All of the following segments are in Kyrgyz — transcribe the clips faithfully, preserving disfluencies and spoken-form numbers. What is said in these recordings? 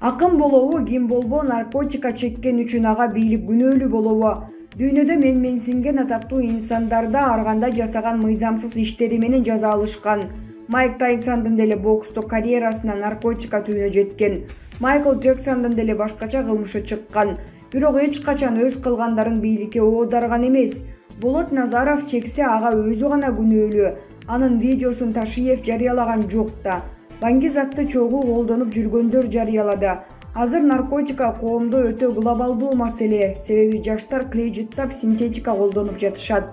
Акын болобу, ким болбо, наркотика чеккен үчүн ага бийлик күнөөлүү болобу? Дүйнөдө менменсинген атактуу инсандарда ар кандай жасаган мыйзамсыз иштери менен жаза алышкан. Майк Тайсондун деле боксту карьерасына наркотика түйүнө жеткен. Майкл Джексондун деле башкача кылмышы чыккан. Бирок эч качан өз кылгандарын бийликке оодарган эмес. Болот Назаров чексе ага өзү гана күнөөлүү. Анын видеосун Ташиев жарыялаган жок да. Баңгизатты чогуу колдонуп жүргөндөр жарыялады. Азыр наркотика коомдо өтө глобалдуу маселе, себеби жаштар клей жыттап синтетика колдонуп жатышат.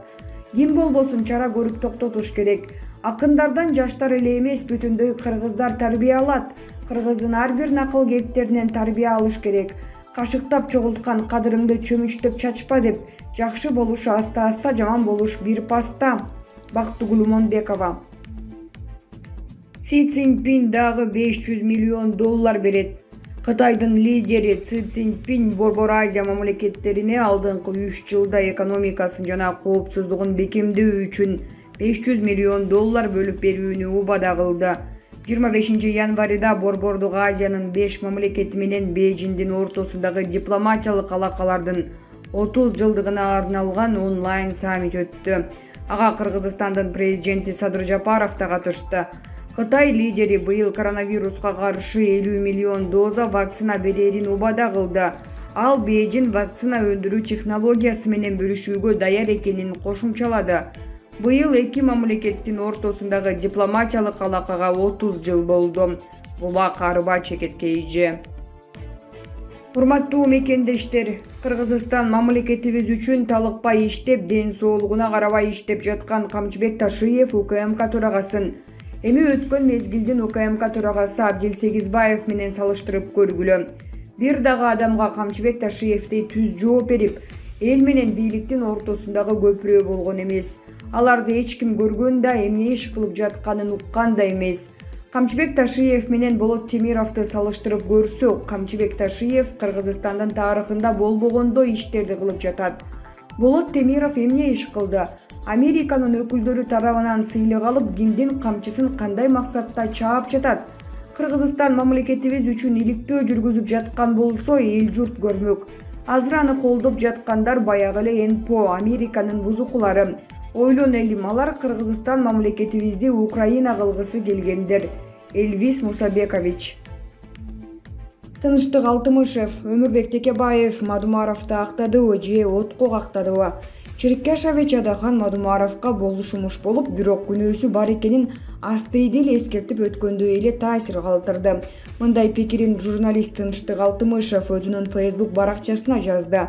Ким болбосун чара көрүп токтотуш керек. Акындардан жаштар эле эмес, бүтүндөй кыргыздар тарбия алат. Кыргыздын ар бир накыл кептеринен тарбия алыш керек. Кашыктап чогулткан кадырыңды чөмүчтөп чачпа деп. Жакшы болуш аста-аста, жаман болуш бир паста. Бактыгүл Монбекова. Си Цзиньпин дагы беш жүз миллион доллар берет. Кытайдын лидери Си Цзиньпин Борбор Азия мамлекеттерине алдыңкы үч жылда экономикасын жана коопсуздугун бекемдөө үчүн беш жүз миллион доллар бөлүп берүүнү убада кылды. жыйырма бешинчи январда Борбордук Азиянын беш мамлекети менен Бейжиңдин ортосундагы дипломатиялык алакалардын отуз жылдыгына арналган онлайн саммит өттү. Ага Кыргызстандын президенти Садыр Жапаров да катышты. Кытай лидери быйыл коронавируска каршы элүү миллион доза вакцина берерин убада кылды. Ал Бейжиң вакцина өндүрүү технологиясы менен бөлүшүүгө даяр экенин кошумчалады. Быйыл эки мамлекеттин ортосундагы дипломатиялык алакага отуз жыл болду. Булак арба чекеткейже. Урматтуу мекендештер, Кыргызстан мамлекетибиз үчүн талыкпай иштеп, ден соолугуна карабай иштеп жаткан Камчыбек Ташиев УКМК төрагасын эми өткөн мезгилдин УКМК төрагасы Абдил Сегизбаев менен салыштырып көргүлө. Бир дагы адамга Камчыбек Ташиевдей түз жооп берип, эл менен бийликтин ортосундагы көпүрө болгон эмес. Аларды эч ким көргөн да, эмне иш кылып жатканын уккан да эмес. Камчыбек Ташиев менен Болот Темировду салыштырып көрсөк, Камчыбек Ташиев Кыргызстандын тарыхында болбогондой иштерди кылып жатат. Болот Темиров эмне иш кылды? Американын өкүлдөрү тарабынан сыйлык алып, кимдин камчысын кандай максатта чаап жатат? Кыргызстан мамлекетибиз үчүн иликтөө жүргүзүп жаткан болсо, эл журт көрмөк. Азыр аны колдоп жаткандар баягы эле эн пэ о, Американын бузукулары. Ойлон элим, алар Кыргызстан мамлекетибизди Украина кылгысы келгендер. Элвис Мусабекович. Тынычтык Алтымышев, Өмүрбек Текебаев Мадумаровду актадыбы же отко кактадыбы? Черкешович Адахан Мадумаровго болушумуш болуп, бирок күнөөсү бар экенин астыйдил эскертип өткөндөй эле таасир калтырды. Мындай пикирин журналист Тынычтык Алтымышев өзүнүн Facebook баракчасына жазды.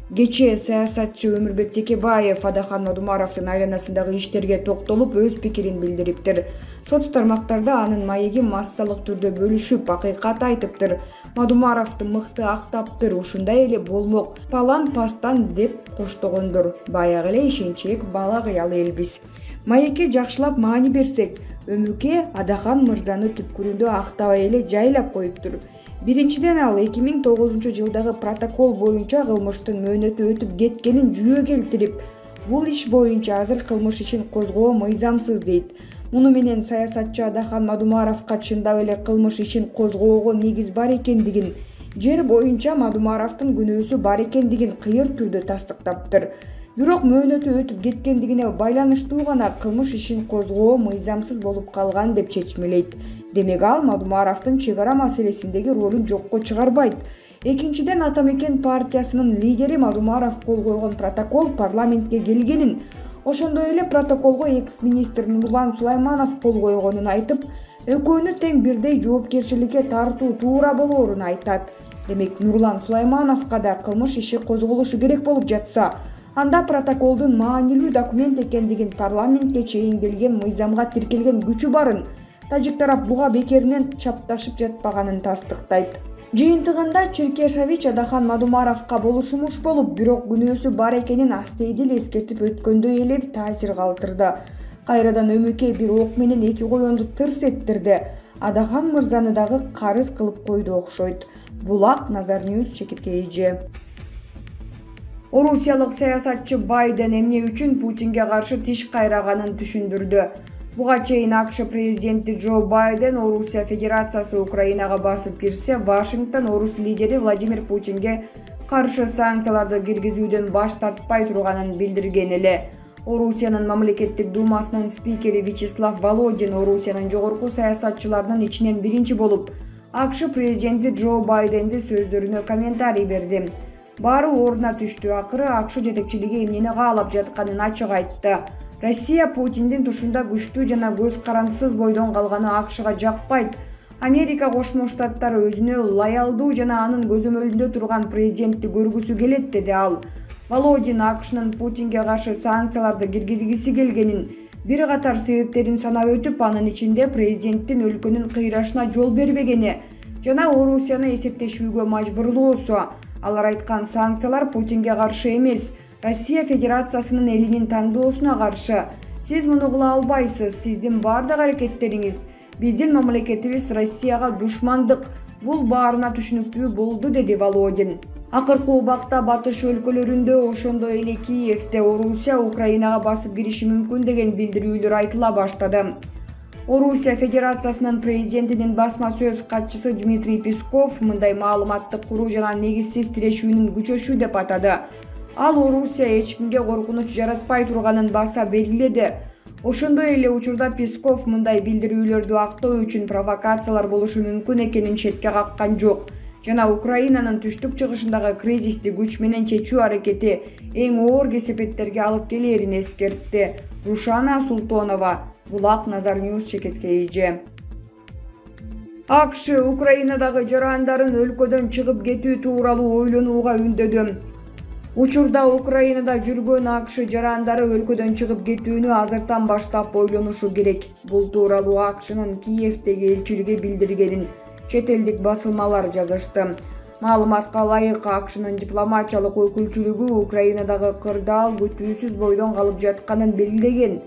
Кечээ саясатчы Өмүрбек Текебаев Адахан Мадумаровдун айланасындагы иштерге токтолуп, өз пикирин билдириптир. Соц тармактарда анын маеги массалык түрдө бөлүшүп, акыйкат айтыптыр. Мадумаровду мыкты актаптыр, ушундай эле болмок, палан пастан деп коштогондор. Баягы эле ишенчек бала кыялы элбиз. Маекке жакшылап маани берсек, Өмүкө Адахан мырзаны түпкүрүндө актабай эле жайлап коюптур. Биринчиден, ал эки миң тогузунчу жылдагы протокол боюнча кылмыштын мөөнөтү өтүп кеткенин жүйө келтирип, бул иш боюнча азыр кылмыш ишин козгоо мыйзамсыз дейт. Муну менен саясатчы Адахан Мадумаровго чындап эле кылмыш ишин козгоого негиз бар экендигин, жер боюнча Мадумаровдун күнөөсү бар экендигин кыйыр түрдө тастыктаптыр. Бирок мөөнөтү өтүп кеткендигине байланыштуу гана кылмыш ишин козгоо мыйзамсыз болуп калган деп чечмелейт. Демек ал Мадумаровдун чек ара маселесиндеги ролун жокко чыгарбайт. Экинчиден, Ата Мекен партиясынын лидери Мадумаров кол койгон протокол парламентке келгенин, ошондой эле протоколго экс-министр Нурлан Сулайманов кол койгонун айтып, экөөнү тең бирдей жоопкерчиликке тартуу туура болоорун айтат. Демек Нурлан Сулаймановго да кылмыш иши козголушу керек болуп жатса, анда протоколдун маанилүү документ экендигин, парламентке чейин келген мыйзамга тиркелген күчү барын тажик тарап буга бекеринен чапташып жатпаганын тастыктайт. Жыйынтыгында Черкешович Адахан Мадумаровго болушумуш болуп, бирок күнөөсү бар экенин астыйдил эскертип өткөндөй эле таасир калтырды. Кайрадан Өмүкө бир ок менен эки коёнду тырс эттирди. Адахан мырзаны дагы карыз кылып койду окшойт. Булак, Назар Ньюс, Чекиткейже. Орусиялык саясатчы Байден эмне үчүн Путинге каршы тиш кайраганын түшүндүрдү. Буга чейин АКШ президенти Джо Байден Орусия Федерациясы Украинага басып кирсе, Вашингтон орус лидери Владимир Путинге каршы санкцияларды киргизүүдөн баш тартпай турганын билдирген эле. Орусиянын мамлекеттик думасынын спикери Вячеслав Володин Орусиянын жогорку саясатчыларынын ичинен биринчи болуп АКШ президенти Джо Байденди сөздөрүнө комментарий берди. Баары ордуна түштү. Акыры АКШ жетекчилиги эмнени каалап жатканын ачык айтты. Россия Путиндин тушунда күчтүү жана көз карандысыз бойдон калганы АКШга жакпайт. Америка Кошмо Штаттары өзүнө лоялдуу жана анын көзөмөлүндө турган президентти көргүсү келет, деди ал. Володин АКШнын Путинге каршы санкцияларды киргизгиси келгенин, бир катар себептерин санап өтүп, анын ичинде президенттин өлкөнүн кыйрашына жол бербегени жана Орусияны эсептешүүгө мажбурлоосу. Алар айткан санкциялар Путинге каршы эмес, Россия Федерациясынын элинин тандоосуна каршы. Сиз муну кыла албайсыз. Сиздин бардык аракеттериңиз биздин мамлекетибиз Россияга душмандык. Бул баарына түшүнүктүү болду, деди Володин. Акыркы убакта батыш өлкөлөрүндө, ошондой эле Киевде Орусия Украинага басып кириши мүмкүн деген билдирүүлөр айтыла баштады. Орусия Федерациясынын президентинин басма сөз катчысы Дмитрий Песков мындай маалыматтык куруу жана негизсиз тирешүүнүн күчөшү деп атады. Ал Орусия эч кимге коркунуч жаратпай турганын баса белгиледи. Ошондой эле учурда Песков мындай билдирүүлөрдү актоо үчүн провокациялар болушу мүмкүн экенин четке каккан жок жана Украинанын түштүк-чыгышындагы кризисти күч менен чечүү аракети эң оор кесепеттерге алып келерин эскертти. Рушана Султонова, Булак Назар Ньюс, Чекеткей. АКШ Украинадагы жарандарын өлкөдөн чыгып кетүү тууралуу ойлонууга үндөдү. Учурда Украинада жүргөн АКШ жарандары өлкөдөн чыгып кетүүнү азыртан баштап ойлонушу керек. Бул тууралуу АКШнын Киевдеги элчилиги билдиргенин чет элдик басылмалар жазышты. Маалыматка ылайык, АКШнын дипломатиялык өкүлчүлүгү Украинадагы кырдаал күтүүсүз бойдон калып жатканын белгилеген.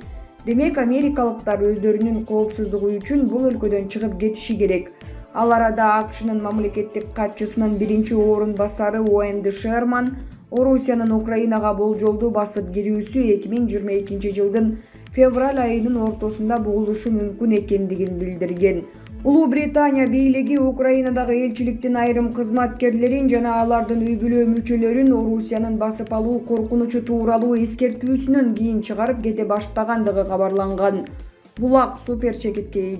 Демек, америкалыктар өздөрүнүн коопсуздугу үчүн бул өлкөдөн чыгып кетиши керек. Ал арада АКШнын мамлекеттик катчысынын биринчи орун басары Уэнди Шерман Орусиянын Украинага болжолдуу басып кирүүсү эки миң жыйырма экинчи жылдын февраль айынын ортосунда болушу мүмкүн экендигин билдирген. Улуу Британия бийлиги Украинадагы элчиликтин айрым кызматкерлерин жана алардын үй-бүлө мүчөлөрүн Орусиянын басып алуу коркунучу тууралуу эскертүүсүнөн кийин чыгарып кете баштагандыгы кабарланган. Булак Супер Чекеткей.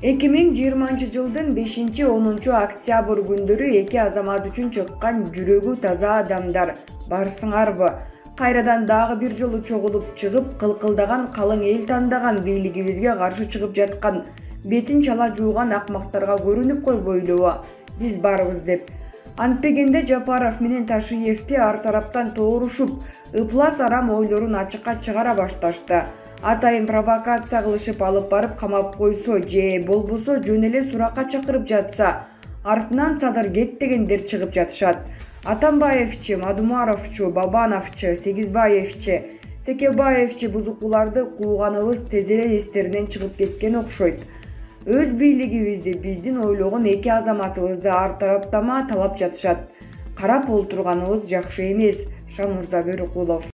эки миң жыйырманчы жылдын бешинчи онунчу октябрь күндөрү эки азамат үчүн чыккан жүрөгү таза адамдар. Барсыңарбы? Кайрадан дагы бир жолу чогулуп чыгып, кылкылдаган калың эл тандаган бийлигибизге каршы чыгып жаткан бетин чала жууган акмактарга көрүнүп койбойлубу? Биз барбыз деп. Антпегенде Жапаров менен Ташиевди ар тараптан тоорушуп, ыплас арам ойлорун ачыкка чыгара башташты. Атайын провокация кылышып алып барып камап койсо же болбосо жөн эле суракка чакырып жатса, артынан садыр кет дегендер чыгып жатышат. Атамбаевчи, Мадумаровчу, Бабановчу, Сегизбаевчи, Текебаевчи бузукуларды кууганыбыз тез эле эстеринен чыгып кеткен окшойт. Өз бийлигибизди, биздин ойлогон эки азаматыбызды ар тараптама талап жатышат. Карап олтурганыбыз жакшы эмес. Шамурза Бөрүкулов.